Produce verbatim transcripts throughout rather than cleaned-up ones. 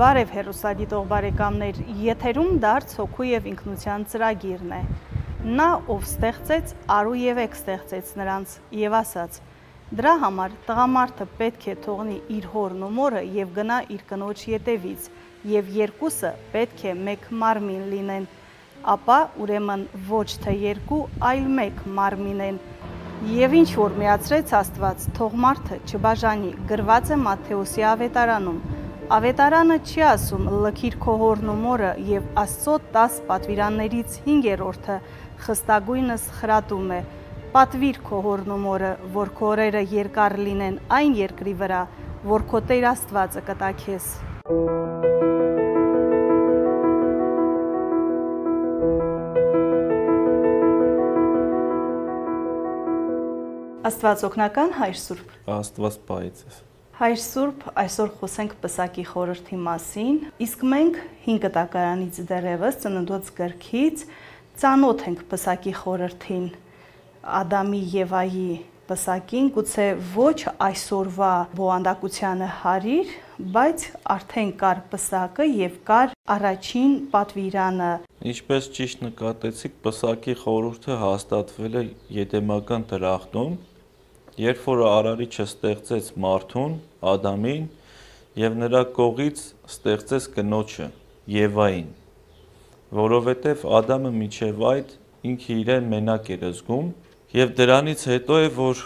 Բարև հեռուստադիտող բարեկամներ, եթերում դարձ հոգու և ինքնության ծրագիրն է։ Նա, ով ստեղծեց, արու և եկ ստեղծեց նրանց և ասաց. դրա համար տղամարդը պետք է թողնի իր հորն ու մորը և գնա իր կնոջ ետևից, և երկուսը պետք է մեկ մարմին լինեն, ապա ուրեմն ոչ թե երկու, այլ մեկ մարմին են։ Եվ ինչ որ միացրեց Աստված, թող մարդը չբաժանի, գրված է Մատթեոսի ավետարանում։ Ավետարանը չի ասում լքիր քո հորն ու մորը, և Աստծո տաս պատվիրաններից հինգերորդը խստագույնս խրատում է. պատվիր քո հորն ու մորը, որ քո օրերը երկար լինեն այն երկրի վրա, որ քո Տեր Աստվածը կտա քեզ։ Աստված օգնական, Հայր Սուրբ։ Աստված պահի ձեզ։ Հայր Սուրբ, այսօր խոսենք պսակի խորհրդի մասին, իսկ մենք հինգ տակարանից դեռևս Ծննդոց գրքից ծանոթ ենք պսակի խորհրդին, Ադամի Եվայի պսակին, գուցե ոչ այսօրվա բովանդակությանը հարիր, բայց արդեն կար պսակը և կար առաջին պատվիրանը։ Ինչպես ճիշտ նկատեցիք, պսակի խորհուրդը հաստատվել է Եդեմական դրախտում, երբ որ Արարիչը ստեղծեց մարդուն, Ադամին, և նրա կողից ստեղծեց կնոջը, Եվային, որովհետև Ադամը մինչև այդ ինքը իրեն մենակ էր զգում, և դրանից հետո է, որ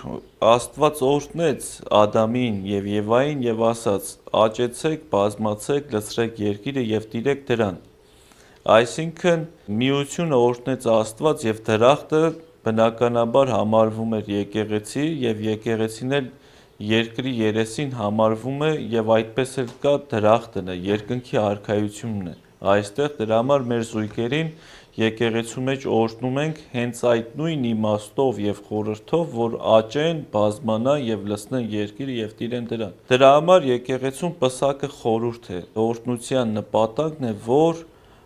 Աստված օրհնեց Ադամին և Եվային և ասաց. աճեցեք, բազմացեք, լցրեք երկիրը և տիրեք դրան։ Այսինքն միությունը օրհնեց Աստված և դրախտը բնականաբար համարվում էր եկեղեցի և եկեղեցին էլ երկրի երեսին համարվում է և այդպես էլ կա դրախտն է, երկնքի արքայությունն է այստեղ, դրա համար մեր զույգերին եկեղեցու մեջ օրհնում ենք հենց այդ նույն իմաստով և խորհրդով, որ աճեն, բազմանան և լցնեն երկիրը և տիրեն դրան։ Դրա համար եկեղեցուն պսակը խորհուրդ է, օրհնության նպատակն է, որ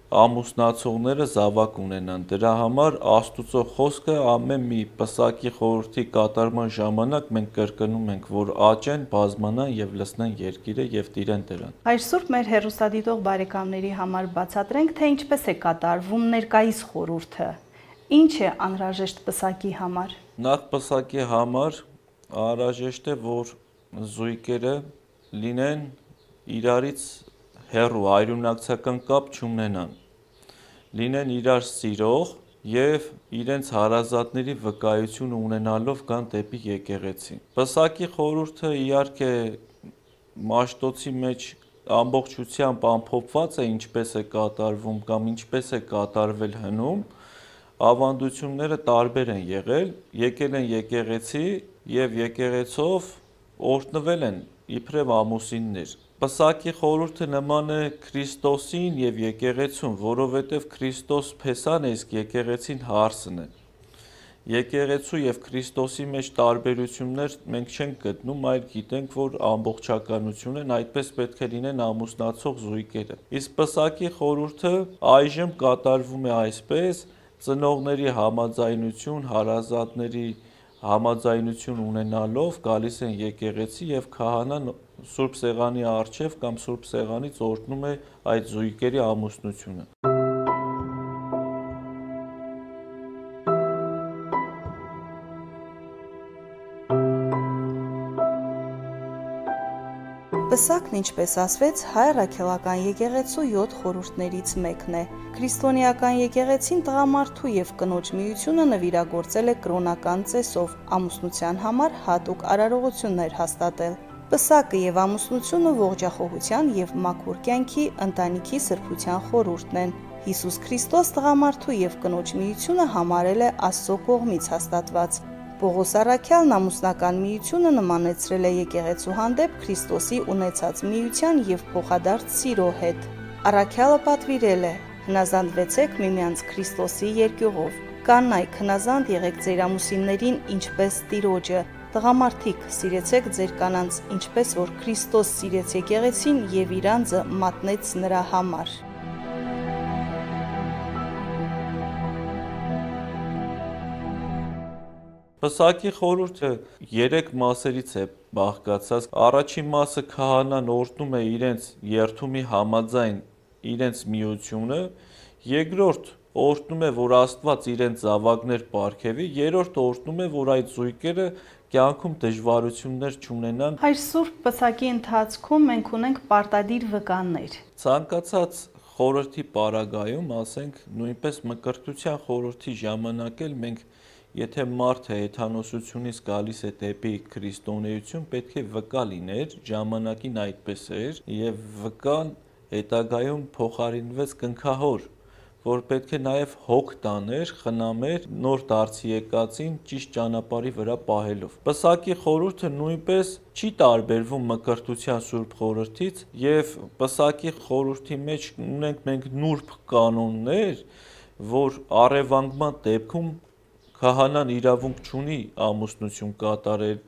ամուսնացողները զավակ ունենան։ Դրա համար Աստուծո խոսքը ամեն մի պսակի խորհրդի կատարման ժամանակ մենք կրկնում ենք, որ աճեն, բազմանան և լցնեն երկիրը և տիրեն դրան։ Հայր Սուրբ, մեր հեռուստադիտող բարեկամների համար բացատրենք, թե ինչպես է կատարվում ներկայիս խորհուրդը։ Ինչ է անհրաժեշտ պսակի համար։ Նախ պսակի համար անհրաժեշտ է, որ զույգերը լինեն իրարից հեռու, հայրենակցական կապ չունենան, լինեն իրար սիրող և իրենց հարազատների վկայությունը ունենալով գան դեպի եկեղեցի։ Պսակի խորհուրդը իհարկե Մաշտոցի մեջ ամբողջությամբ ամփոփված է ինչպես է կատարվում կամ ինչպես է կատարվել հնում, ավանդությունները տարբեր են եղել, եկել են եկեղեցի և եկեղեցով օրհնվել են իբրև ամուսիններ։ Պսակի խորհուրդը նման է Քրիստոսին և եկեղեցուն, որովհետև Քրիստոս փեսան է, իսկ եկեղեցին հարսն է։ Եկեղեցու և Քրիստոսի մեջ տարբերություններ մենք չենք գտնում, այլ գիտենք, որ ամբողջականություն են, այդպես պետք է լինեն ամուսնացող զույգերը։ Իսկ պսակի խորհուրդը այժմ կատարվում է այսպես. ծնողների համաձայնություն, հարազատների համաձայնություն ունենալով գալիս են եկեղեցի և քահանան Սուրբ Սեղանի առջև կամ Սուրբ Սեղանից օրհնում է այդ զույգերի ամուսնությունը։ Պսակն, ինչպես ասվեց, հայ առաքելական եկեղեցու յոթ խորհուրդներից մեկն է։ Քրիստոնեական եկեղեցին տղամարդու և կնոջ միությունը նվիրագործել է կրոնական ծեսով, ամուսնության համար հատուկ արարողություններ հաստատել։ Պսակը և ամուսնությունը ողջախոհության և մաքուր կյանքի, ընտանիքի սրբության խորհուրդն են։ Հիսուս Քրիստոս տղամարդու և կնոջ միությունը համարել է Աստծո կողմից հաստատված։ Պողոս առաքյալն ամուսնական միությունը նմանեցրել է եկեղեցու հանդեպ Քրիստոսի ունեցած միության և փոխադարձ սիրո հետ։ Առաքյալը պատվիրել է. հնազանդվեցեք միմյանց Քրիստոսի երկյուղով։ Կանայք, հնազանդ եղեք ձեր ամուսիններին, ինչպես Տիրոջը։ Տղամարդիկ, սիրեցեք ձեր կանանց, ինչպես որ Քրիստոս սիրեց եկեղեցին և իր անձը մատնեց նրա համար։ Պսակի խորհուրդը երեք մասերից է բաղկացած։ Առաջին մասը քահանան օրհնում է իրենց երթումի համաձայն իրենց միությունը, երկրորդ օրհնում է, որ Աստված իրենց զավակներ պարգևի, երրորդ օրհնում է, որ այդ զույգերը կյանքում դժվարություններ չունենան։ Հայր Սուրբ պսակի ընթացքում մենք ունենք պարտադիր վկաններ։ Ցանկացած խորհրդի պարագայում, ասենք, նույնպես Մկրտության խորհրդի ժամանակ էլ մենք, եթե մարդը հեթանոսությունից գալիս է դեպի քրիստոնեություն, պետք է վկա լիներ, ժամանակին այդպես էր, եւ վկան հետագայում փոխարինվեց կնքահոր, որ պետք է նաև հոգ տաներ, խնամեր նոր դարձի եկածին ճիշտ ճանապարհի վրա պահելով։ Պսակի խորհուրդը նույնպես չի տարբերվում Մկրտության Սուրբ խորհրդից, եւ Պսակի խորհրդի մեջ ունենք մենք նուրբ կանոններ, որ առևանգման դեպքում քահանան իրավունք չունի ամուսնություն կատարել,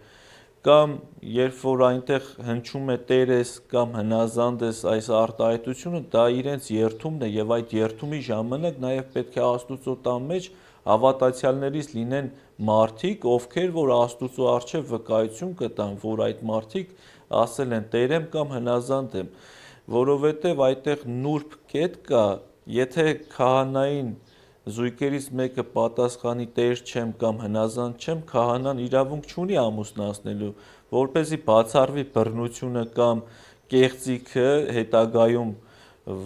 կամ երբ որ այնտեղ հնչում է տերես կամ հնազանդ ես, այս արտահայտությունը, դա իրենց երթումն է, եւ այդ երթումի ժամանակ նաև պետք է Աստուծո տան մեջ հավատացյալներից լինեն մարդիկ, ովքեր որ Աստուծո առջև վկայություն կտան, որ այդ մարդիկ ասել են տեր եմ կամ հնազանդ եմ, որովհետև այդտեղ նուրբ կետ կա, եթե քահանային զույգերից մեկը պատասխանի տեր չեմ կամ հնազանդ չեմ, քահանան իրավունք չունի ամուսնացնելու, որպեսզի բացառվի բռնությունը կամ կեղծիքը հետագայում,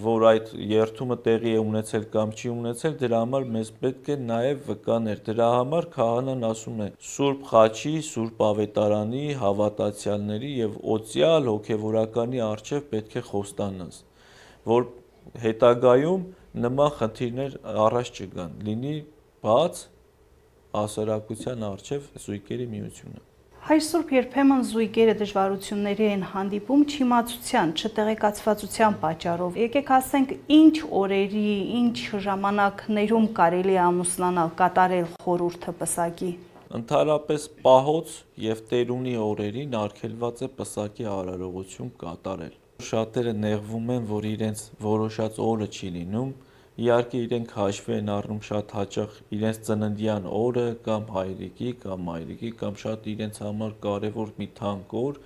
որ այդ երթումը տեղի է ունեցել կամ չի ունեցել, դրա համար մեզ պետք է նաև վկաներ։ Դրա համար քահանան ասում է Սուրբ Խաչի, Սուրբ Ավետարանի, հավատացյալների եւ օծյալ հոգեվորականի առջև պետք է խոստանաս, որ հետագայում նման խնդիրներ առաջ չգան, լինի բաց ասարակության առջև զույգերի միությունը։ Հայր Սուրբ, երբեմն զույգերը դժվարությունների են հանդիպում չիմացության, չտեղեկացվածության պատճառով։ Եկեք ասենք, ինչ օրերի, ինչ ժամանակներում կարելի է ամուսնանալ, կատարել խորհուրդը պսակի։ Ընդհանրապես պահոց եւ տերունի օրերին արգելված է պսակի արարողություն կատարել։ Շատերը նեղվում են, որ իրենց որոշած օրը չի լինում, իհարկե իրենք հաշվի են առնում շատ հաճախ իրենց ծննդյան օրը կամ հայրիկի կամ մայրիկի կամ շատ իրենց համար կարևոր մի թանկ օր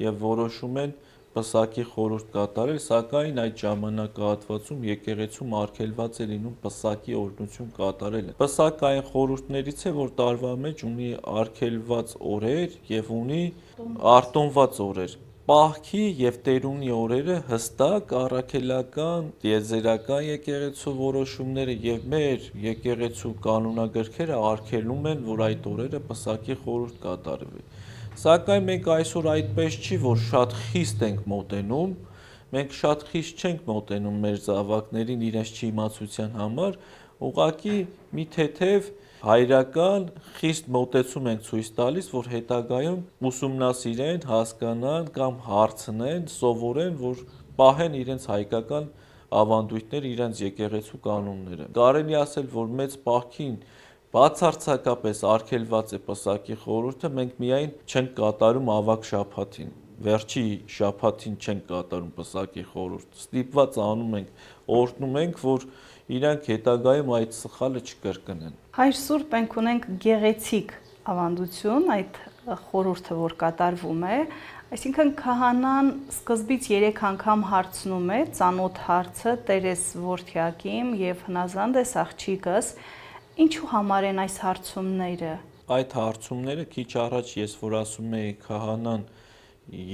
եւ որոշում են պսակի խորհուրդ կատարել, սակայն այդ ժամանակահատվածում եկեղեցում արգելված է լինում պսակի օրհնություն կատարելը։ Պսակը այն խորհուրդներից է, որ տարվա մեջ ունի արգելված օրեր եւ ունի արտոնված օրեր։ Պահքի եւ տերունի օրերը հստակ առաքելական, տիեզերական եկեղեցու որոշումները եւ մեր եկեղեցու կանոնագրքերը արգելում են, որ այդ օրերը պսակի խորհուրդ կատարվի։ Սակայն մենք այսօր այդպես չի, որ շատ խիստ ենք մոտենում, մենք շատ խիստ չենք մոտենում մեր զավակներին իրենց չիմացության համար, ուղղակի մի թեթև հայրական խիստ մոտեցում ենք ցույց տալիս, որ հետագայում ուսումնասիրեն, հասկանան կամ հարցնեն, սովորեն, որ պահեն իրենց հայկական ավանդույթները, իրենց եկեղեցու կանոնները։ Կարելի ասել, որ մեծ պահքին բացարձակապես արգելված է պսակի խորհուրդը, մենք միայն չենք կատարում ավագ շաբաթին, վերջի շաբաթին չենք կատարում պսակի խորհուրդ։ Ստիպված անում ենք, օրհնում ենք, որ իրանք հետագայում այդ սխալը չկրկնեն։ Հայր Սուրբ, մենք ունենք գեղեցիկ ավանդություն, այդ խորհուրդը, որ կատարվում է, այսինքն քահանան սկզբից երեք անգամ հարցնում է ծանոթ հարցը տեր ես որդյակիմ եւ հնազանդ ես աղջիկս, ինչու համար են այս հարցումները։ Այդ հարցումները քիչ առաջ ես որ ասում էի քահանան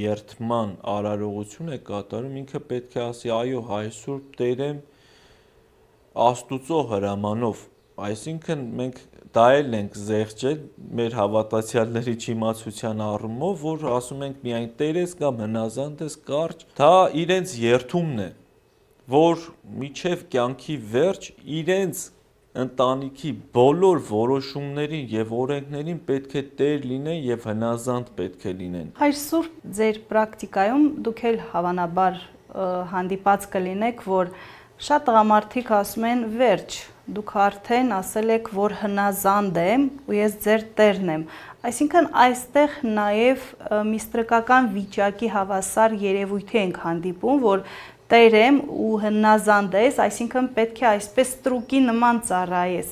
երթման արարողություն է կատարում, ինքը պետք է ասի այո Հայր Սուրբ Տեր եմ Աստուծո հրամանով, այսինքն մենք դա էլ ենք զեղչել մեր հավատացյալների չիմացության առումով, որ ասում ենք միայն Տեր ես կամ հնազանդ ես կարճ, դա իրենց երթումն է, որ միջև կյանքի վերջ իրենց ընտանիքի բոլոր որոշումներին եւ օրենքներին պետք է տեր լինեն եւ հնազանդ պետք է լինեն։ Հայր Սուրբ, ձեր պրակտիկայում դուք էլ հավանաբար հանդիպած կլինեք, որ շատ տղամարդիկ ասում են վերջ, դուք արդեն ասել եք, որ հնազանդ եմ ու ես ձեր տերն եմ։ Այսինքն այստեղ նաև միստրկական վիճակի հավասար երևույթի ենք հանդիպում, որ տեր եմ ու հնազանդ ես, այսինքն պետք է այսպես ստրուկի նման ծառայես։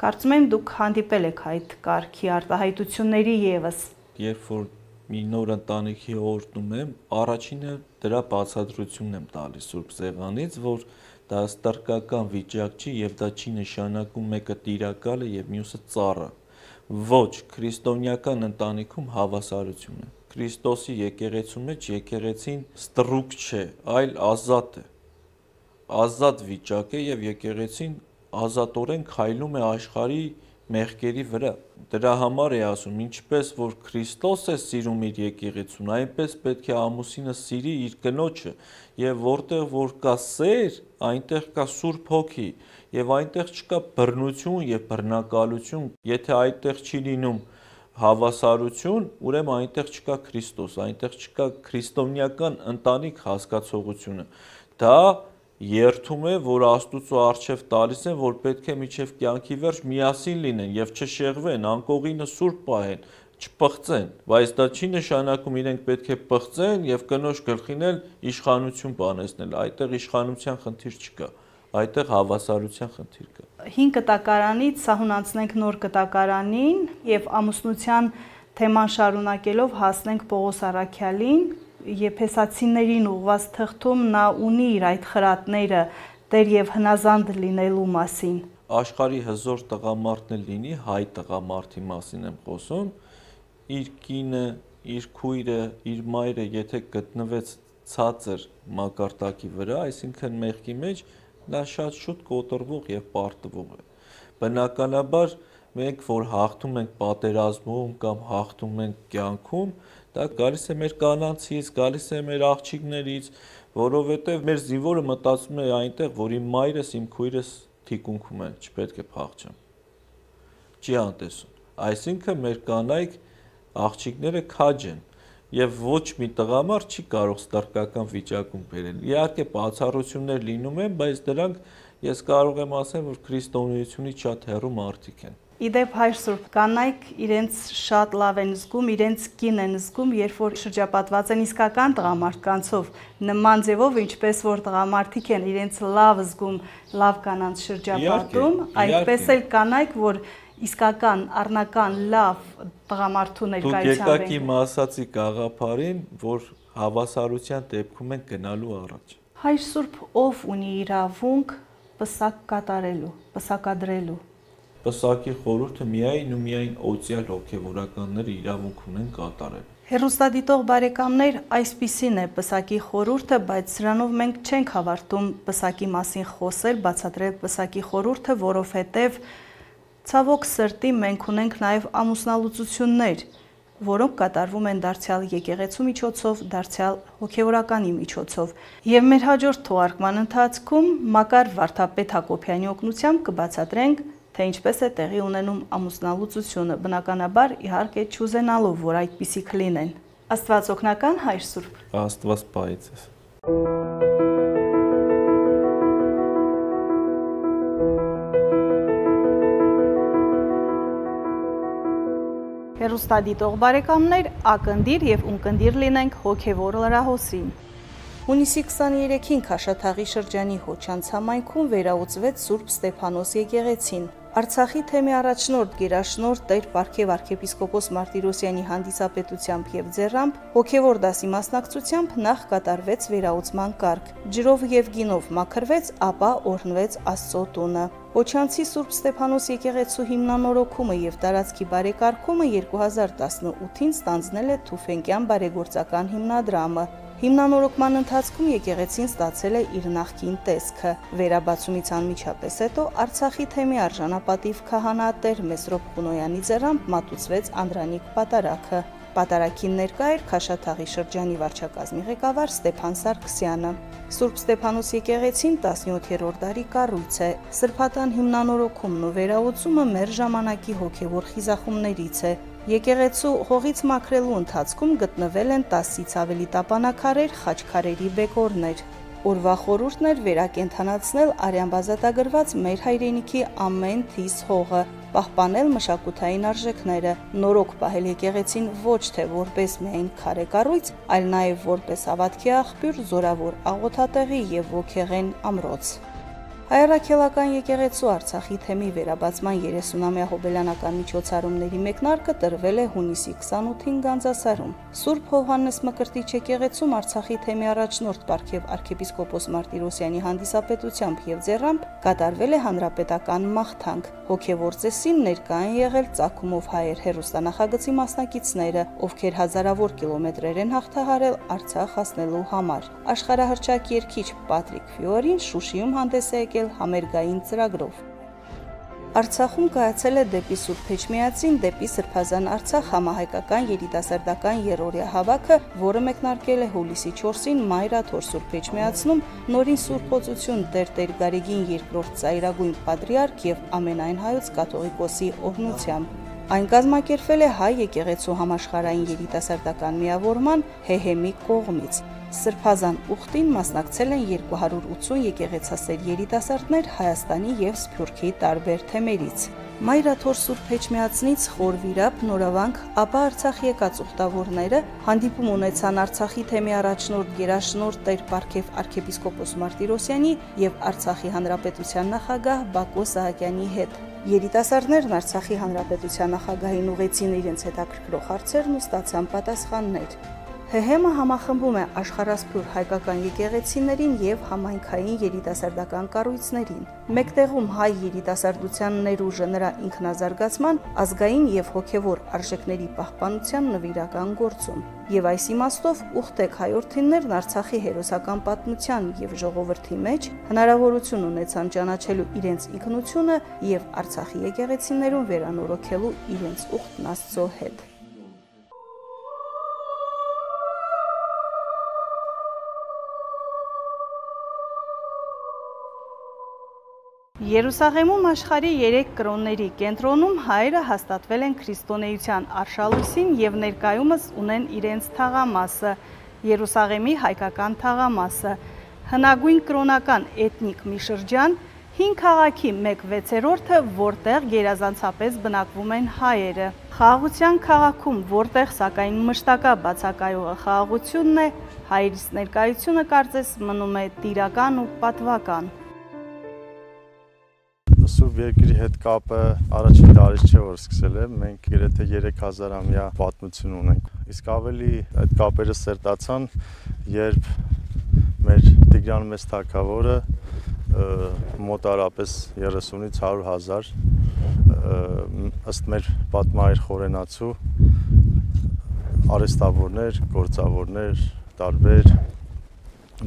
Կարծում եմ դուք հանդիպել եք այդ կարգի արտահայտությունների եւս։ Երբ որ մի նոր ընտանիքի օրհնում եմ, առաջինը դրա բացատրությունն եմ տալիս Սուրբ Սեղանից, որ դա ստրկական վիճակ չի եւ դա չի նշանակում մեկը տիրակալ է եւ մյուսը ծառը։ Ոչ, քրիստոնեական ընտանիքում հավասարություն է։ Քրիստոսի եկեղեցու մեջ եկեղեցին ստրուկ չէ, այլ ազատ է։ Ազատ վիճակ է եւ եկեղեցին ազատորեն քայլում է աշխարհի մեղքերի վրա։ Դրա համար է ասում, ինչպես որ Քրիստոս է սիրում իր եկեղեցուն, այնպես պետք է ամուսինը սիրի իր կնոջը, եւ որտեղ որ կա սեր, այնտեղ կա Սուրբ Հոգի, եւ այնտեղ չկա բռնություն եւ բռնակալություն։ Եթե այդտեղ չի լինում հավասարություն, ուրեմն այնտեղ չկա Քրիստոս, այնտեղ չկա քրիստոնեական ընտանիք հասկացողությունը։ Դա երթում է, որ Աստուծո առջև տալիս են, որ պետք է միջև կյանքի վերջ միասին լինեն եւ չշեղվեն, անկողինը սուրբ պահեն, չպղծեն, բայց դա չի նշանակում իրենք պետք է պղծեն եւ կնոջ գլխին էլ իշխանություն բանեցնել, այդտեղ իշխանության խնդիր չկա, այդտեղ հավասարության խնդիր կա։ հինգ կտակարանից սահուն անցնենք նոր կտակարանին եւ ամուսնության թեման շարունակելով հասնենք Պողոս Առաքյալին։ Եփեսացիներին ուղված թղթում նա ունի իր այդ խրատները Տեր եւ հնազանդ լինելու մասին։ Աշխարհի հզոր տղամարդն էլ լինի, հայ տղամարդի մասին եմ խոսում, իր կինը, իր քույրը, իր մայրը, եթե գտնվեց ցածր մակարդակի վրա, այսինքն մեղքի մեջ, նա շատ շուտ կոտրվող եւ պարտվող է։ Բնականաբար մենք որ հաղթում ենք պատերազմում կամ հաղթում ենք կյանքում, դա գալիս է մեր կանանցից, գալիս է մեր աղջիկներից, որովհետև մեր զինվորը մտածում է այնտեղ, որ իմ մայրս, իմ քույրս թիկունքում են, չպետք է փախչեմ։ Չի անտեսում։ Այսինքն մեր կանայք աղջիկները քաջ են եւ ոչ մի տղամարդ չի կարող ստրկական վիճակում բերել։ Իհարկե բացառություններ լինում են, բայց դրանք ես կարող եմ ասել, որ քրիստոնեությունից շատ հեռու մարդիկ են։ Իդեպ հայր Սուրբ, կանայք իրենց շատ լավ են զգում, իրենց կին են զգում, երբ որ շրջապատված են իսկական տղամարդկանցով, նման ձևով, ինչպես որ տղամարդիկ են իրենց լավ զգում, լավ կանանց շրջապատում, այդպես էլ կանայք, որ իսկական, առնական, լավ տղամարդու ներկայությամբ են։ Դուք եկաք իմ ասացի գաղափարին, որ հավասարության դեպքում են գնալու առաջ։ Հայր Սուրբ, ով ունի իրավունք պսակ կատարելու, պսակադրելու։ Պսակի խորհուրդը միայն ու միայն օծյալ հոգևորականները իրավունք ունեն կատարել։ Հեռուստադիտող բարեկամներ, այսպիսին է պսակի խորհուրդը, բայց սրանով մենք չենք հավարտում պսակի մասին խոսել, բացատրել պսակի խորհուրդը, որովհետև ցավոք սրտի մենք ունենք նաև ամուսնալուծություններ, որոնք կատարվում են դարձյալ եկեղեցու միջոցով, դարձյալ հոգևորականի միջոցով։ Եվ մեր հաջորդ թողարկման ընթացքում Մակար Վարդապետ Հակոբյանի օգնությամբ կբացատրենք, թե ինչպես է տեղի ունենում ամուսնալուծությունը, բնականաբար իհարկե չուզենալով, որ այդպիսիք լինեն։ Աստված օգնական, Հայր Սուրբ։ Աստված պահի ձեզ։ Հեռուստադիտող բարեկամներ, ակնդիր եւ ունկնդիր լինենք հոգևոր լրահոսին։ Հունիսի քսաներեքին Քաշաթաղի շրջանի Հոչանց համայնքում վերաուծվեց Սուրբ Ստեփանոս եկեղեցին։ Արցախի թեմի առաջնորդ գերաշնորհ Տեր Պարքև arczepiskopos Martirosyan-ի հանդիսապետությամբ եւ ձեռամբ հոգևոր դասի մասնակցությամբ նախ կատարվեց վերաուծման կարգ։ Ջրով եւ գինով մաքրվեց, ապա օրհնվեց Աստծո տունը։ Հոչանցի Սուրբ Ստեփանոս եկեղեցու հիմնանորոգումը եւ տարածքի բարեկարգումը երկու հազար տասնութին ստանձնել է Թուֆենկյան բարեգործական հիմնադրամը։ Հիմնանորոգման ընթացքում եկեղեցին ստացել է իր նախկին տեսքը։ Վերաբացումից անմիջապես հետո Արցախի թեմի արժանապատիվ քահանատեր Մեսրոպ Խունոյանի ձեռամբ մատուցվեց Անդրանիկ պատարագը։ Պատարագին ներկա էր Քաշաթաղի շրջանի վարչակազմի ղեկավար Ստեփան Սարգսյանը։ Սուրբ Ստեփանոս եկեղեցին տասնյոթերորդ դարի կառույց է։ Սրբատան հիմնանորոգումն ու վերաուծումը մեր ժամանակի հոգևոր խիզախումներից է։ Եկեղեցու հողից մաքրելու ընթացքում գտնվել են տասից ավելի տապանաքարեր, խաչքարերի բեկորներ։ Օրվա խորհուրդն էր վերակենդանացնել արյան բազատագրված մեր հայրենիքի ամեն թիս հողը, պահպանել մշակութային արժեքները, նորոգ պահել եկեղեցին ոչ թե որպես միայն քարե կառույց, այլ նաև որպես հավատքի աղբյուր, զորավոր աղոթատեղի եւ ոգեղեն ամրոց։ Հայրաքելական եկեղեցու Արցախի թեմի վերաբացման երեսունամյա հոբելյանական միջոցառումների մեկնարկը տրվել է հունիսի քսանութին Գանձասարում։ Սուրբ Հովհաննես Մկրտիչ եկեղեցում Արցախի թեմի առաջնորդ Պարքև arczepiskopos Martirosyan-ի հանդիսապետությամբ եւ ձեռամբ կատարվել է հանրապետական մաղթանք։ Հոգևոր ծեսին ներկա են եղել Ծագումով հայեր հերոստանախագծի մասնակիցները, ովքեր հազարավոր կիլոմետրեր են հաղթահարել Արցախ հասնելու համար։ Աշխարհահռչակ երգիչ Պատրիկ Ֆիորին Շուշիում հանդես է եկել համերգային ծրագրով։ Արցախում կայացել է դեպի Սուրբ Էջմիածին, դեպի Սրբազան Արցախ համահայկական երիտասարդական երրորդյա հավաքը, որը մեկնարկել է հուլիսի չորսին Մայրաթոր Սուրբ Էջմիածնում նորին Սուրբ Օծություն Տեր-Տեր Գարեգին երկրորդ ծայրագույն պատրիարք եւ ամենայն հայոց կաթողիկոսի օրհնությամբ։ Այն կազմակերպվել է հայ եկեղեցու համաշխարհային երիտասարդական միավորման ՀՀՄ-ի կողմից։ Սրբազան ուխտին մասնակցել են երկու հարյուր ութսուն եկեղեցասեր երիտասարդներ Հայաստանի եւ Սփյուռքի տարբեր թեմերից։ Մայրաթոր Սուրբ Էջմիածնից խոր վիրապ, նորավանք, ապա Արցախ եկած ուխտավորները հանդիպում ունեցան Արցախի թեմի առաջնորդ գերաշնորհ Տեր Պարքև arczepiskopos Martirosyan-ի եւ Արցախի հանրապետության նախագահ Բակո Սահակյանի հետ։ Երիտասարդներն Արցախի հանրապետության նախագահին ուղեցին իրենց հետաքրքրող հարցերն ու ստացան պատասխաններ։ ՀՀՄ-ը համախմբում է աշխարհասփյուռ հայկական եկեղեցիներին եւ համայնքային երիտասարդական կառույցներին։ Մեկտեղում հայ երիտասարդության ներուժը նրա ինքնազարգացման, ազգային եւ հոգեվոր արժեքների պահպանության նվիրական գործում։ Եվ այս իմաստով ուխտեք հայրենիներն Արցախի հերոսական պատմության եւ ժողովրդի մեջ հնարավորություն ունեցան ճանաչելու իրենց ինքնությունը եւ Արցախի եկեղեցիներուն վերանորոգելու իրենց ուխտն Աստծո հետ։ Երուսաղեմում աշխարհի երեք կրոնների կենտրոնում հայերը հաստատվել են քրիստոնեության արշալույսին եւ ներկայումս ունեն իրենց թաղամասը, Երուսաղեմի հայկական թաղամասը, հնագույն կրոնական էթնիկ մի շրջան, հին քաղաքի մեկ վեցերորդը, որտեղ գերազանցապես բնակվում են հայերը։ Խաղաղության քաղաքում, որտեղ սակայն մշտակա բացակայողը խաղաղությունն է, հայերիս ներկայությունը կարծես մնում է տիրական ու պատվական։ Սուրբ երկրի հետ կապը առաջին տարից չէ, որ սկսել է, մենք գրեթե երեք հազարամյա պատմություն ունենք։ Իսկ ավելի այդ կապերը սերտացան, երբ մեր Տիգրան Մեծ թագավորը մոտարապես երեսունից հարյուր հազար ըստ մեր պատմահայր խորենացու արհեստավորներ, գործավորներ, տարբեր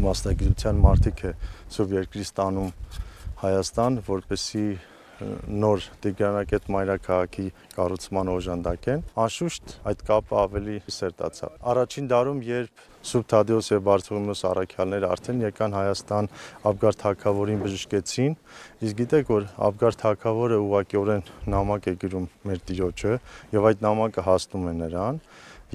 մասնագիտության մարդիկ է Սուրբ երկրից տանում Հայաստան, որպեսզի նոր Տիգրանակետ մայրաքաղաքի կառուցման օժանդակեն, անշուշտ այդ կապը ավելի սերտացավ։ Առաջին դարում, երբ Սուրբ Թադեոս եւ Բարթողիմեոս առաքյալները արդեն եկան Հայաստան, Աբգար թագավորին բժշկեցին, իսկ գիտեք, որ Աբգար թագավորը ուղղակիորեն նամակ է գրում մեր Տիրոջը եւ այդ նամակը հասնում է նրան,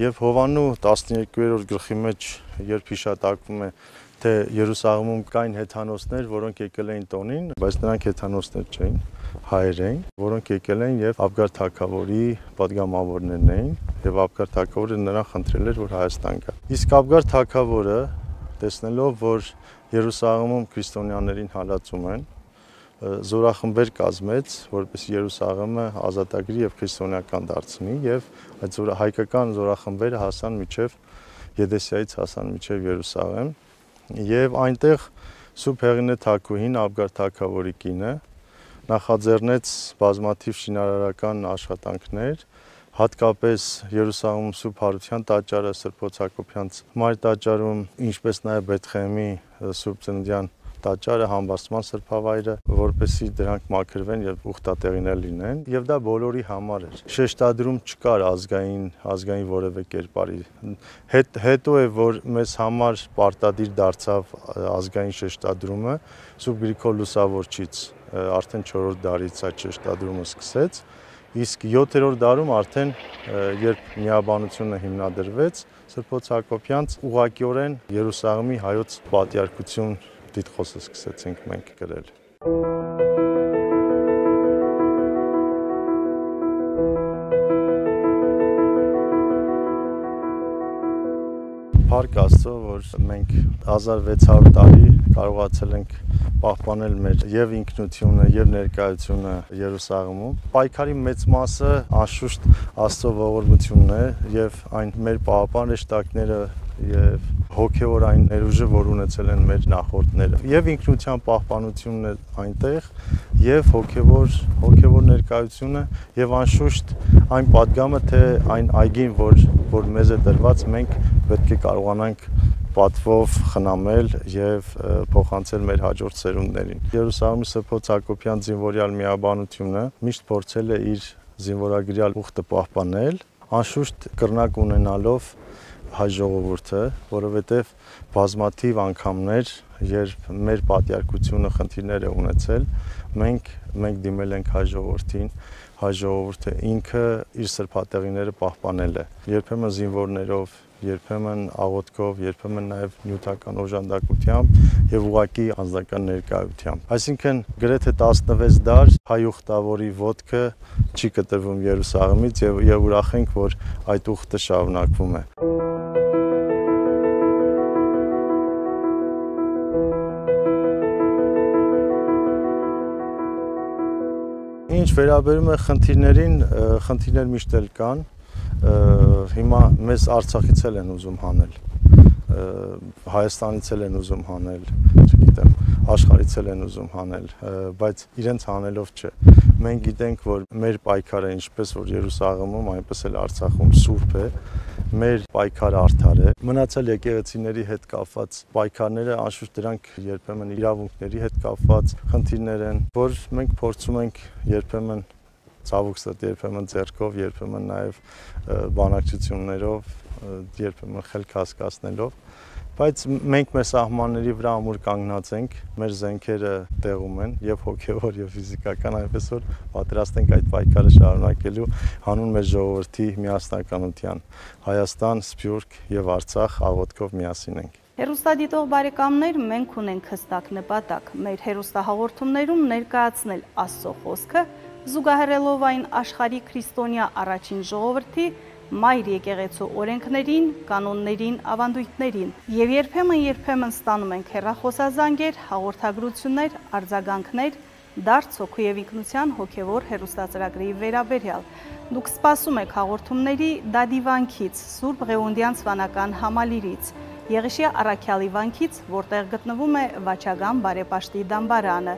եւ Հովաննու տասներկուերորդ գլխի մեջ, երբ հիշատակվում է թե Երուսաղեմում կային հեթանոսներ, որոնք եկել էին տոնին, բայց նրանք հեթանոսներ չէին, հայեր էին, որոնք եկել էին եւ Աբգար թագավորի պատգամավորներն էին, եւ Աբգար թագավորը նրան խնդրել էր, որ Հայաստան գա։ Իսկ Աբգար թագավորը, տեսնելով, որ Երուսաղեմում քրիստոնյաներին հալածում են, զորախմբեր կազմեց, որպեսզի Երուսաղեմը ազատագրի եւ քրիստոնեական դարձնի, եւ այդ հայկական զորախմբերը հասան մինչեւ Եդեսիայից հասան մինչեւ Երուսաղեմ։ Եվ այնտեղ Սուրբ Հեղինե Թագուհին, Աբգար թագավորի կինը, նախաձեռնեց բազմաթիվ շինարարական աշխատանքներ, հատկապես Երուսաղեմում Սուրբ Հարության տաճարը, Սրբոց Հակոբյանց մայր տաճարում, ինչպես նաև Բեթխեհեմի Սուրբ Ծննդյան տաճարը, Համբարձման սրբավայրը, որպեսզի դրանք մաքրվեն եւ ուխտատեղիներ լինեն, եւ դա բոլորի համար էր։ Շեշտադրում չկար ազգային, ազգային որևէ կերպարի։ Հետ հետո է, որ մեզ համար պարտադիր դարձավ ազգային շեշտադրումը, Սուրբ Գրիգոր Լուսավորչից արդեն չորրորդ դարից այդ շեշտադրումը սկսեց, իսկ յոթերորդ դարում արդեն երբ միաբանությունը հիմնադրվեց, Սրբոց Հակոբյանց ուղղակիորեն Երուսաղեմի հայոց պատիարքություն դիտխոսը սկսեցինք մենք գրել։ Փառք Աստծո, որ մենք հազար վեց հարյուր տարի կարողացել ենք պահպանել մեր եւ ինքնությունը եւ ներկայությունը Երուսաղեմում։ Պայքարի մեծ մասը անշուշտ Աստծո ողորմությունն է եւ այն մեր պահապան հեշտակները եւ հոգեոր այն ներուժը, որ ունեցել են մեր նախորդները։ Եվ ինքնության պահպանությունն է այնտեղ, եւ հոգեոր հոգեոր ներկայությունը եւ անշուշտ այն падգամը, թե այն այգին, որ որ մեզ է տրված, մենք պետք է կարողանանք պատվով խնամել եւ փոխանցել մեր հաջորդ սերունդներին։ Երուսաղեմի Սրբոց Հակոբյան զինվորյալ միաբանությունը միշտ փորձել է իր զինվորագրյալ ուխտը պահպանել, անշուշտ կրնակ ունենալով հայ ժողովուրդը, որովհետև բազմաթիվ անգամներ, երբ մեր պատյարկությունը խնդիրներ է ունեցել, մենք մենք դիմել ենք հայ ժողովրդին, հայ ժողովուրդը ինքը իր սրբատեղիները պահպանել է, երբեմն զինվորներով, երբեմն աղոթքով, երբեմն նաև նյութական օժանդակությամբ եւ ուղակի անձնական ներկայությամբ։ Այսինքն գրեթե տասնվեց դար հայ ուխտավորի ոտքը չի կտրվում Երուսաղեմից եւ եւ ուրախ ենք, որ այդ ուխտը շարունակվում է։ Ինչ վերաբերում է խնդիրներին, խնդիրներ միշտ էլ կան, հիմա մեզ Արցախից էլ են ուզում հանել, Հայաստանից էլ են ուզում հանել, չգիտեմ, աշխարհից էլ են ուզում հանել, բայց իրենց հանելով չէ։ Մենք գիտենք, որ մեր պայքարը ինչպես որ Երուսաղեմում, այնպես էլ Արցախում սուրբ է, մեր պայքարը արդար է։ Մնացել եկեղեցիների հետ կապված պայքարները անշուշտ դրանք երբեմն իրավունքների հետ կապված խնդիրներ են, որ մենք փորձում ենք երբեմն ցավոք սրտի, երբեմն ձեռքով, երբեմն նաև բանակցություններով, երբեմն խելք հասկացնելով, բայց մենք մեր սահմանների վրա ամուր կանգնած ենք, մեր զենքերը տեղում են եւ հոգեոր եւ ֆիզիկական, այնպես որ պատրաստ ենք այդ պայքարը շարունակելու հանուն մեր ժողովրդի միասնականության։ Հայաստան, Սփյուռք եւ Արցախ աղոթքով միասին ենք։ Հերոստադիտող բարեկամներ, մենք ունենք հստակ նպատակ մեր հերոստահաղորդումներում ներկայացնել Աստծո խոսքը, զուգահեռելով այն աշխարհի քրիստոնյա առաջին ժողովրդի մայր եկեղեցու օրենքներին, կանոններին, ավանդույթներին եւ երբեմն-երբեմն ստանում ենք հեռախոսազանգեր, հաղորդագրություններ, արձագանքներ, դարձ հոգու եւ ինքնության հոգեվոր հերոստացրագրի վերաբերյալ։ Դուք սպասում եք հաղորդումների Դադիվանքից, Սուրբ Ղևոնդյանց վանական համալիրից, Եղիշիա Առաքյալի վանքից, որտեղ գտնվում է Վաչագան բարեպաշտի դամբարանը։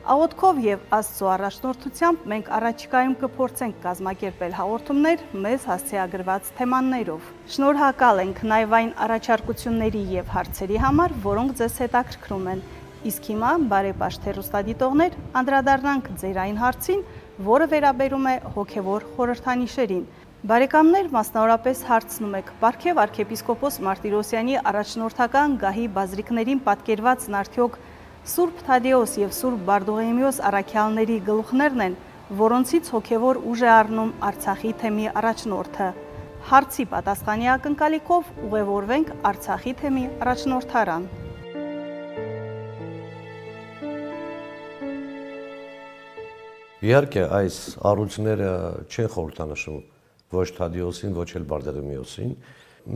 Աղոթքով եւ Աստծո առաջնորդությամբ մենք առաջիկայում կփորձենք կազմակերպել հաղորդումներ մեզ հասցեագրված թեմաներով։ Շնորհակալ ենք նաեւ այն առաջարկությունների եւ հարցերի համար, որոնք ձեզ հետաքրքրում են։ Իսկ հիմա բարեպաշտ հեռուստադիտողներ, անդրադառնանք ձեր այն հարցին, որը վերաբերում է հոգեվոր խորհրդանիշերին։ Բարեկամներ, մասնավորապես հարցնում եք Պարքև arczepiskopos Martirosyan-ի առաջնորդական գահի բազրիկներին պատկերվածն արդյոք Սուրբ Թադեոս եւ Սուրբ Բարդուղիմեոս առաքյալների գլուխներն են, որոնցից հոգեվոր ուժ է առնում Արցախի թեմի առաջնորդը։ Հարցի պատասխանի ակնկալիքով ուղևորվենք Արցախի թեմի առաջնորդարան։ Իհարկե, այս առույցները չեն խորհրդանշում ոչ Թադեոսին, ոչ էլ Բարդուղիմեոսին։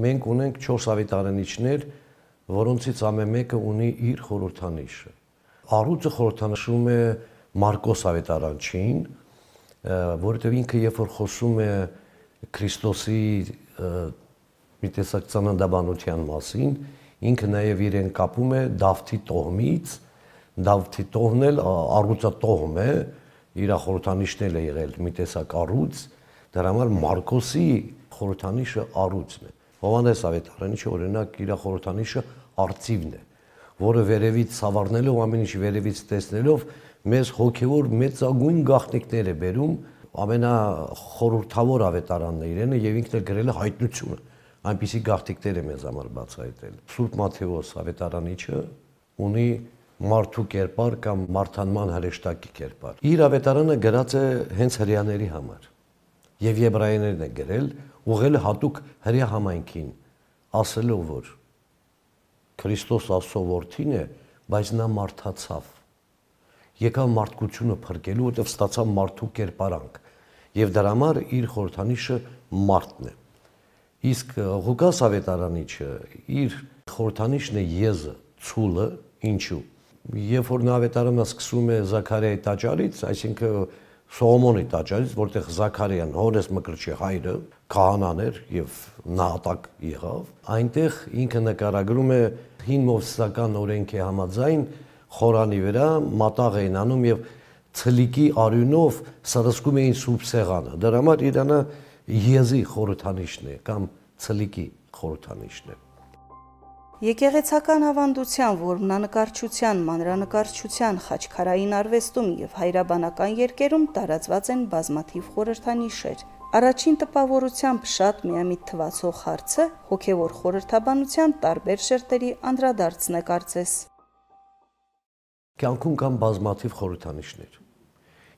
Մենք ունենք չորս ավետարանիչներ, որոնցից ամեն մեկը ունի իր խորհրդանիշը։ Առույցը խորհրդանշում է Մարկոս ավետարանչին, որովհետև ինքը երբ որ խոսում է Քրիստոսի մի տեսակ ծննդաբանության մասին, ինքը նաև իրեն կապում է Դավթի տոհմից, Դավթի տոհմն էլ առույցատոհմ է, իր խորհրդանիշն էլ է եղել մի տեսակ առույց, դրա համար Մարկոսի խորհրդանիշը առույցն է։ Հովհաննես ավետարանիչը օրինակ իր խորհրդանիշը արծիվն է, որը վերևից սավառնելով, ամեն ինչ վերևից տեսնելով, մեզ հոգևոր մեծագույն գաղտնիքներ է բերում, ամենախորհրդավոր ավետարանն է իրենը եւ ինքն էլ գրել է հայտնությունը, այնպիսի գաղտնիքներ է մեզ համար բացահայտել։ Սուրբ Մատթեոս ավետարանիչը ունի մարդու կերպար կամ մարդանման հրեշտակի կերպար։ Իր ավետարանը գրած է հենց հրեաների համար եւ եբրայերեն է գրել, ուղղել հատուկ հրեա համայնքին, ասելով որ Քրիստոս Աստծո որդին է, բայց նա մարդացավ։ Եկավ մարդկությունը փրկելու, որտեղ ստացավ մարդու կերպարանք եւ դրա համար իր խորհրդանիշը մարդն է։ Իսկ Ղուկաս ավետարանիչը իր խորհրդանիշն է եզը, ցուլը, Ինչու։ Երբ որ Նավետարանը սկսում է Զաքարիայի տաճարից, այսինքն Սողոմոնի տաճարից, որտեղ Զաքարիան Հովհաննես Մկրտչի հայրը քահանան էր եւ նահատակ եղավ, այնտեղ ինքը նկարագրում է հին մովսեսական օրենքի համաձայն խորանի վրա մատաղ էին անում եւ ցլիկի արյունով սրսկում էին սուրբ սեղանը։ Դրա համար Իրանը եզի խորհրդանիշն է կամ ցլիկի խորհրդանիշն է։ Եկեղեցական ավանդության, որմնանկարչության, մանրանկարչության, խաչքարային արվեստում եւ հայրաբանական երգերում տարածված են բազմաթիվ խորհրդանիշեր։ Առաջին տպավորությամբ շատ միամիտ թվացող հարցը հոգեվոր խորհրդաբանության տարբեր շերտերի անդրադարձն է կարծես։ Կյանքում կան բազմաթիվ խորհրդանիշներ։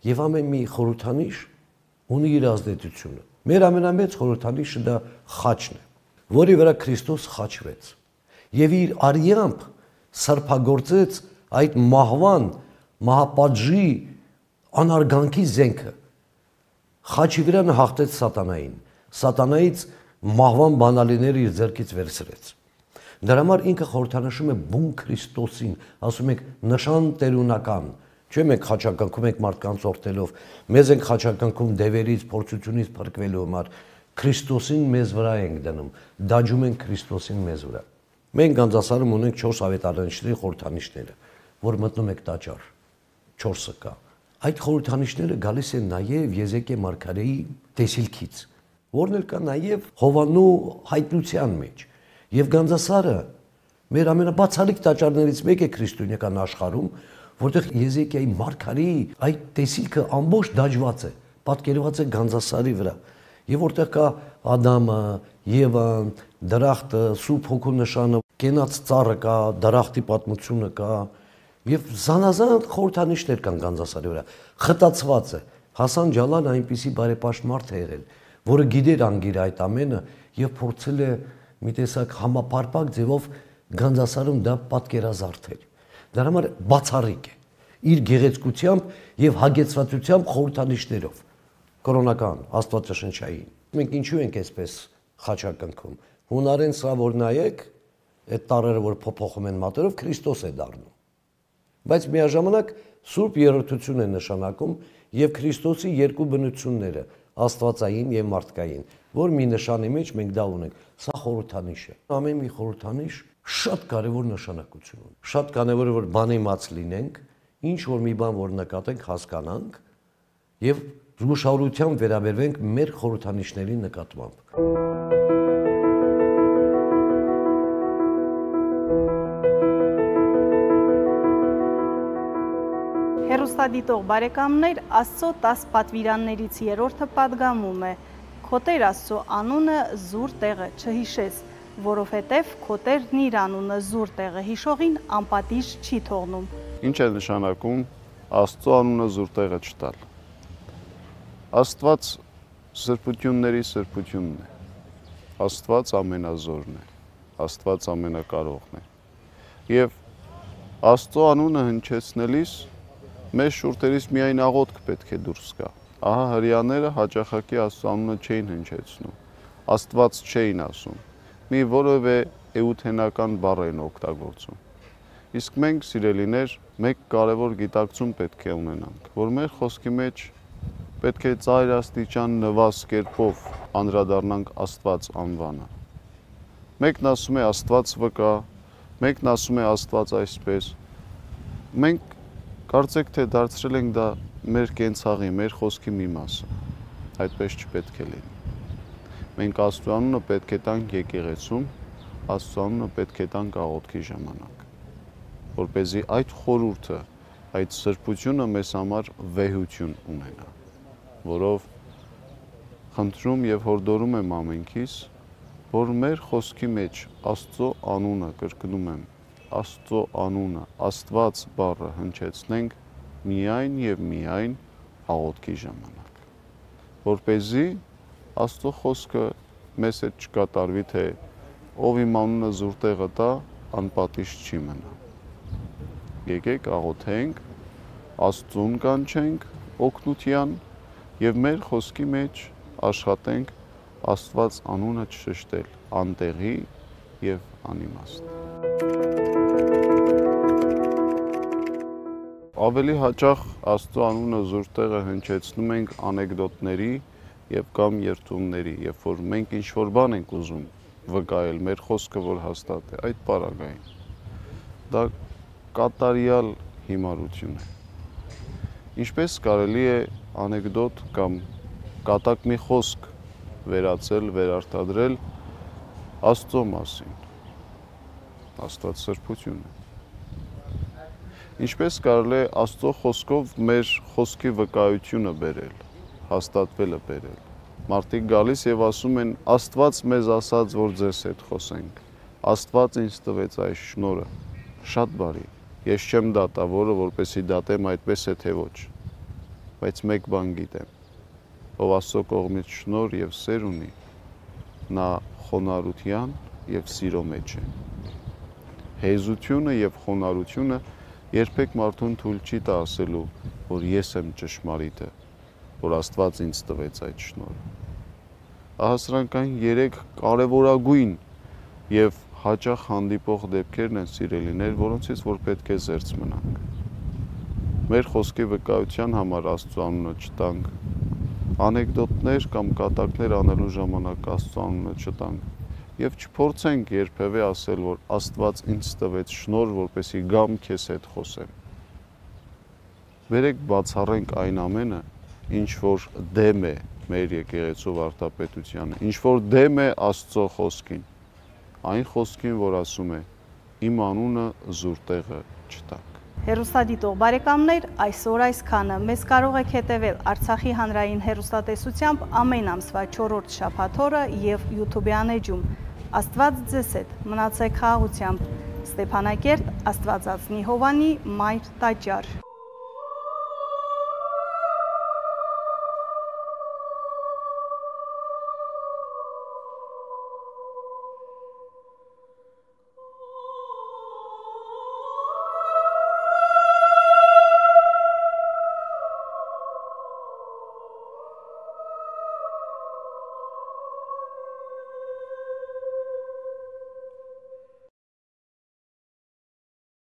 Եվ ամեն մի խորհրդանիշ ունի իր ազդեցությունը։ Մեր ամենամեծ խորհրդանիշը դա խաչն է, որի վրա Քրիստոս խաչվեց։ Եվ իր արյամբ սրբագործեց այդ մահվան, մահապատժի անարգանքի զենքը։ Խաչի վրա նա հաղթեց սատանային, սատանայից մահվան բանալիները իր ձեռքից վերցրեց։ Դրա համար ինքը խորհրդանշում է բուն Քրիստոսին, ասում ենք նշան տերունական, չէ՞ մենք խաչակնքում ենք մարդկանց օրտելով, մեզ ենք խաչակնքում դևերից, փորձությունից փրկվելու համար, Քրիստոսին մեզ վրա ենք դնում, դաջում ենք Քրիստոսին մեզ վրա։ Մենք Գանձասարում ունենք չորս ավետարանիչների խորհրդանիշները, որ մտնում եք տաճար, չորսը կա։ Այդ խորհրդանիշները գալիս են նաև Եզեկիա մարգարեի տեսիլքից, որն էլ կա նաև Հովաննու հայտնության մեջ։ Եվ Գանձասարը մեր ամենաբացառիկ տաճարներից մեկը է քրիստոնեական աշխարհում, որտեղ Եզեկիայի մարգարեի այդ տեսիլքը ամբողջ դաջված է, պատկերված է Գանձասարի վրա։ Եվ որտեղ կա Ադամը, Եվան, դրախտը, Սուրբ Հոգու նշանը, կենաց ծառը կա, դրախտի պատմությունը կա, եւ զանազան խորհրդանիշներ կան Գանձասարի վրա։ Խտացված է։ Հասան Ջալալը այնպիսի բարեպաշտ մարդ է եղել, որը գիտեր անգիր այդ ամենը եւ փորձել է մի տեսակ համապարփակ ձևով Գանձասարում դա պատկերազարդել։ Դրա համար բացառիկ է իր գեղեցկությամբ եւ հագեցվածությամբ խորհրդանիշներով կրոնական, աստվածաշնչային։ Մենք ինչու ենք այսպես խաչակնքում։ Հունարեն սա որ նայեք, այդ տառերը որ փոփոխում են մատերով, Քրիստոս է դառնում։ Բայց միաժամանակ Սուրբ Երրորդություն է նշանակում եւ Քրիստոսի երկու բնությունները, աստվածային եւ մարդկային, որ մի նշանի մեջ մենք դա ունենք։ Սա խորհրդանիշ է։ Ամեն մի խորհրդանիշ շատ կարևոր նշանակություն ունի։ Շատ կարևոր է որ բանիմաց լինենք, ինչ որ մի բան որ նկատենք, հասկանանք եւ զգուշավորությամբ վերաբերվենք մեր խորհրդանիշների նկատմամբ։ Հեռուստադիտող բարեկամներ, Աստծո տասը պատվիրաններից երրորդը պատգամում է. Քո Տեր Աստծո անունը զուր տեղը չհիշես, որովհետև քո Տերն իր անունը զուր տեղը հիշողին անպատիժ չի թողնում։ Ինչ է նշանակում Աստծո անունը զուր տեղը չտալ։ Աստված սրբությունների սրբությունն է։ Աստված ամենազորն է։ Աստված ամենակարողն է։ Եվ Աստծո անունը հնչեցնելիս մեր շուրթերից միայն աղոթք պետք է դուրս գա։ Ահա հրեաները հաճախակի Աստծո անունը չէին հնչեցնում, Աստված չէին ասում, մի որևէ էութենական բառ էին օգտագործում։ Իսկ մենք, սիրելիներ, մեկ կարևոր գիտակցում պետք է ունենանք, որ մեր խոսքի մեջ պետք է ծայր աստիճան նվազ կերպով անդրադառնանք Աստված անվանը։ Մեկն ասում է Աստված վկա, մեկն ասում է Աստված այսպես։ Մենք կարծեք թե դարձրել ենք դա մեր կենցաղի, մեր խոսքի մի մասը։ Այդպես չպետք է լինի։ Մենք Աստծո անունը պետք է տանք եկեղեցում, Աստծո անունը պետք է տանք աղոթքի ժամանակ, որպեսզի այդ խորհուրդը, այդ սրբությունը մեզ համար վեհություն ունենա, որով խնդրում եւ հորդորում եմ ամենքիս, որ մեր խոսքի մեջ Աստծո անունը, կրկնում եմ, Աստծո անունը, Աստված բառը հնչեցնենք միայն եւ միայն աղոթքի ժամանակ, որպեսզի Աստծո խոսքը մեզ հետ չկատարվի, թե ով իմ անունը զուր տեղը տա, անպատիժ չի մնա։ Եկեք աղոթենք, Աստծուն կանչենք օգնության եւ մեր խոսքի մեջ աշխատենք Աստված անունը չշշտել անտեղի եւ անիմաստ։ ավելի հաճախ Աստծո անունը զուր տեղը հնչեցնում ենք անեկդոտների եւ կամ երթումների, երբ որ մենք ինչ-որ բան ենք ուզում վկայել, մեր խոսքը որ հաստատ է, այդ պարագային։ Դա կատարյալ հիմարություն է։ Ինչպես կարելի է անեկդոտ կամ կատակ մի խոսք վերացել, վերարտադրել Աստծո մասին, Աստված սրբություն է։ Ինչպես կարելի է Աստծո խոսքով մեր խոսքի վկայությունը բերել, հաստատվելը բերել։ Մարդիկ գալիս եւ ասում են Աստված մեզ ասաց, որ ձեզ հետ խոսենք։ Աստված ինձ տվեց այս շնորհը։ Շատ բարի։ Ես չեմ դատավորը, որպեսի դատեմ այդպես է թե ոչ։ Բայց մեկ բան գիտեմ, ով Աստծո կողմից շնորհ եւ սեր ունի, նա խոնարհության եւ սիրո մեջ է։ Հեզությունը եւ խոնարհությունը երբեք մարդուն թույլ չի տա ասելու, որ ես եմ ճշմարիտը, որ Աստված ինձ տվեց այդ շնորհը։ Ահա սրանք այն երեք կարևորագույն եւ հաճախ հանդիպող դեպքերն են, սիրելիներ, որոնցից որ պետք է զերծ մնանք։ Մեր խոսքի վկայության համար Աստծո անունը չտանք, անեկդոտներ կամ կատակներ անելու ժամանակ Աստծո անունը չտանք եւ չփորձենք երբևէ ասել, որ Աստված ինձ տվեց շնորհ, որպեսի գամ քեզ հետ խոսեմ։ Բերեք բացառենք այն ամենը, ինչ որ դեմ է մեր եկեղեցու վարդապետությանը, ինչ որ դեմ է Աստծո խոսքին, այն խոսքին, որ ասում է իմ անունը զուր տեղը չտաք։ Հեռուստադիտող բարեկամներ, այսօր այսքանը։ Մեզ կարող եք հետևել Արցախի հանրային հեռուստատեսությամբ ամեն ամսվա չորրորդ շաբաթ օրը եւ YouTube-յան էջում։ Աստված ձեզ հետ, մնացեք խաղաղությամբ։ Ստեփանակերտ, Աստվածածնի Հովանի, Մայր տաճար։